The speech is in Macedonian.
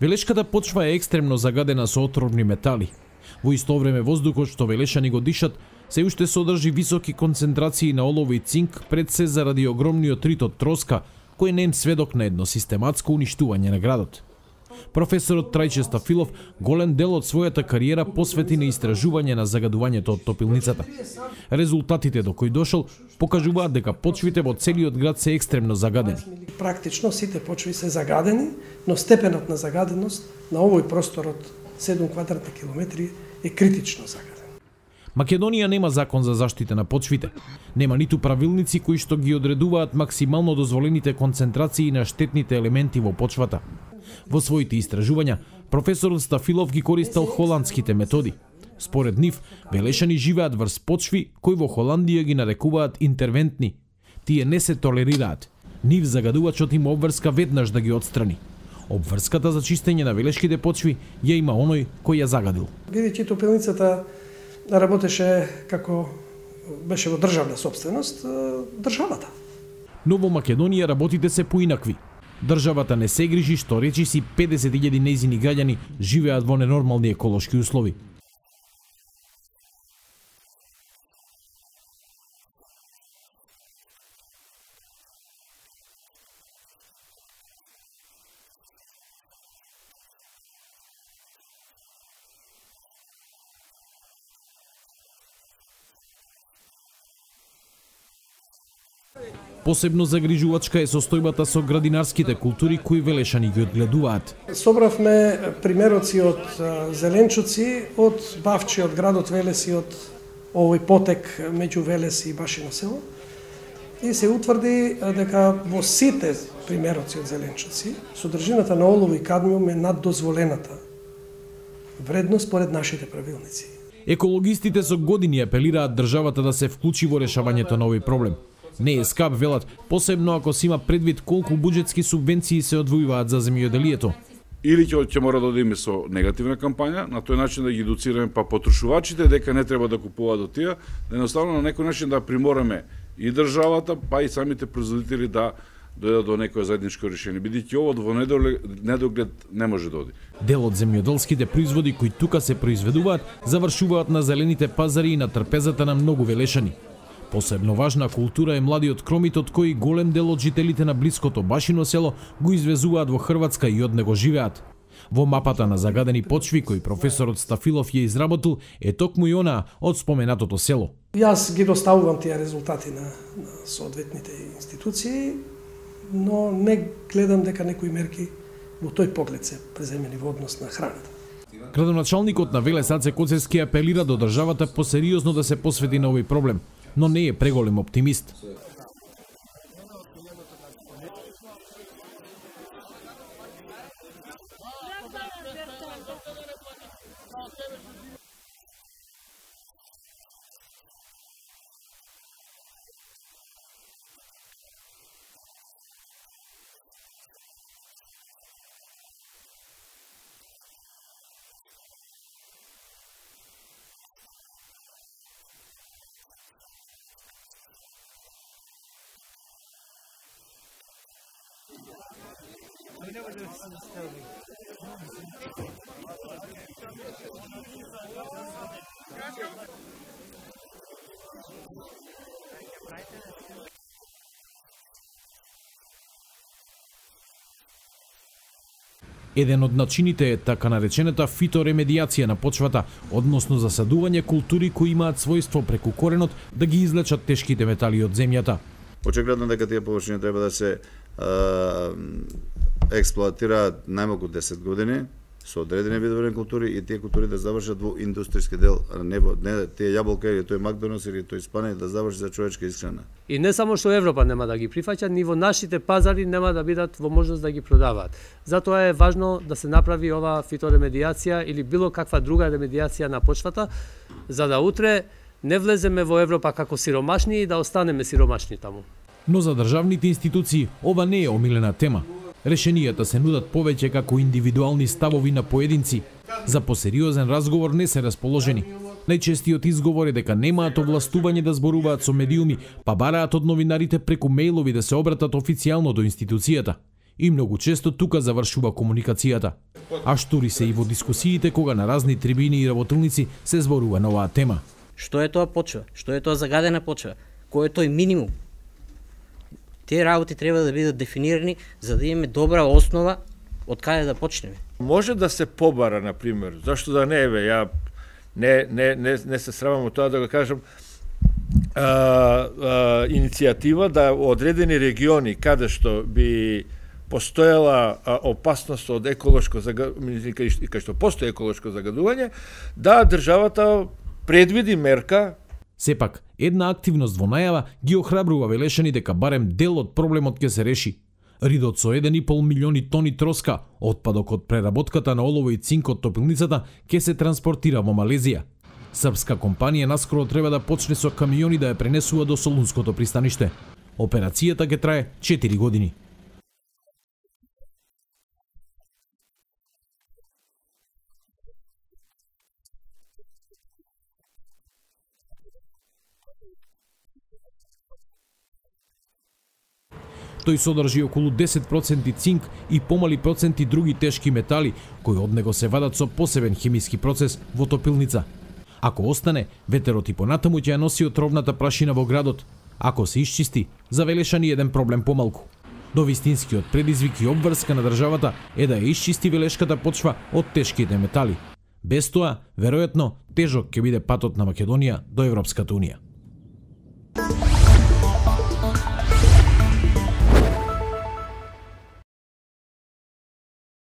Велешката почва е екстремно загадена со отровни метали. Во исто време воздухот што велешани го дишат се уште содржи високи концентрации на олово и цинк, пред се заради огромниот рит од троска, кој не е сведок на едно систематско уништување на градот. Професорот Трајче Стафилов голем дел од својата кариера посвети на истражување на загадувањето од топилницата. Резултатите до кои дошол покажуваат дека почвите во целиот град се екстремно загадени. Практично сите почви се загадени, но степенот на загаденост на овој простор од 7 квадратни километри е критично загаден. Македонија нема закон за заштита на почвите. Нема ниту правилници кои што ги одредуваат максимално дозволените концентрации на штетните елементи во почвата. Во своите истражувања, професорот Стафилов ги користел холандските методи. Според нив, велешани живеат врз почви кои во Холандија ги нарекуваат интервентни. Тие не се толерираат. Нив загадувачот има обврска веднаш да ги отстрани. Обврската за чистење на велешките почви ја има оној кој ја загадил. Бидејќи топилницата работеше како беше во државна сопственост, државата. Но во Македонија работите се поинакви. Државата не се грижи што речиси 50.000 нејзини граѓани живеат во ненормални еколошки услови. Посебно загрижувачка е состојбата со градинарските култури кои велешани ги одгледуваат. Собравме примероци од зеленчуци, од бавчи од градот Велес и од овој потек меѓу Велес и Башино село. И се утврди дека во сите примероци од зеленчуци содржината на олово и кадмиум е над дозволената вредност според нашите правилници. Екологистите со години апелираат државата да се вклучи во решавањето на овој проблем. Не е скап, велат, посебно ако се има предвид колку буџетски субвенции се одвојуваат за земјоделието. Или ќе мора да одиме со негативна кампања, на тој начин да ги едуцираме па потрошувачите дека не треба да купуваат од тие, да едноставно на некој начин да примораме и државата, па и самите производители да дојдат до некое заедничко решение, бидејќи ово во недоглед не може да оди. Дел од земјоделските производи кои тука се произведуваат завршуваат на зелените пазари и на трпезата на многу велешани. Посебно важна култура е младиот кромитот кој голем дел од жителите на блиското Башино село го извезуваат во Хрватска и од него живеат. Во мапата на загадени почви кој професорот Стафилов ја изработил е токму и она од споменатото село. Јас ги доставувам тие резултати на соодветните институции, но не гледам дека некои мерки во тој поглед се преземени во однос на храната. Градоначалникот на Велес Аце Коцевски апелира до државата посериозно да се посвети на овој проблем, но не е преголем оптимист. Еден од начините е така наречената фиторемедијација на почвата, односно засадување култури кои имаат својство преку коренот да ги излечат тешките метали од земјата. Очигледно дека тие површини треба да се експлоатираат најмалку 10 години со одредени видови култури и тие култури да завршат во индустријски дел, не тие јаболка или тој Макдоналдс или тој Испанија да заврши за човечка исхрана. И не само што Европа нема да ги прифаќа, ни во нашите пазари нема да бидат во можност да ги продаваат. Затоа е важно да се направи ова фиторемедијација или било каква друга ремедијација на почвата, за да утре не влеземе во Европа како сиромашни и да останеме сиромашни таму. Но за државните институции ова не е омилена тема. Решенијата се нудат повеќе како индивидуални ставови на поединци. За посериозен разговор не се расположени. Најчестиот изговор е дека немаат овластување да зборуваат со медиуми, па бараат од новинарите преку мејлови да се обратат официјално до институцијата. И многу често тука завршува комуникацијата. А штури се и во дискусиите кога на разни трибини и работилници се зборува на оваа тема. Што е тоа почва? Што е тоа загадена почва? Кој е тој минимум? Тие работи треба да бидат дефинирани за да имаме добра основа од каде да почнеме. Може да се побара, на пример, зашто да не бе, ја не се срамам од тоа да го кажам, иницијатива да одредени региони каде што би постоела опасност од еколошко загадување, кај што постои еколошко загадување, да државата предвиди мерка. Сепак, една активност во најава ги охрабрува Велешани дека барем дел од проблемот ќе се реши. Ридот со 1,5 милиони тони троска, отпадок од преработката на олово и цинк од топилницата, ќе се транспортира во Малезија. Српска компанија наскоро треба да почне со камиони да ја пренесува до Солунското пристаниште. Операцијата ќе трае 4 години. Тој содржи околу 10% цинк и помали проценти други тешки метали, кои од него се вадат со посебен хемиски процес во топилница. Ако остане, ветерот и понатаму ќе ја носи отровната прашина во градот. Ако се исчисти, за Велешани еден проблем помалку. Но вистинскиот предизвик и обврска на државата е да ја исчисти велешката почва од тешките метали. Без тоа, веројатно, тежок ќе биде патот на Македонија до Европската унија.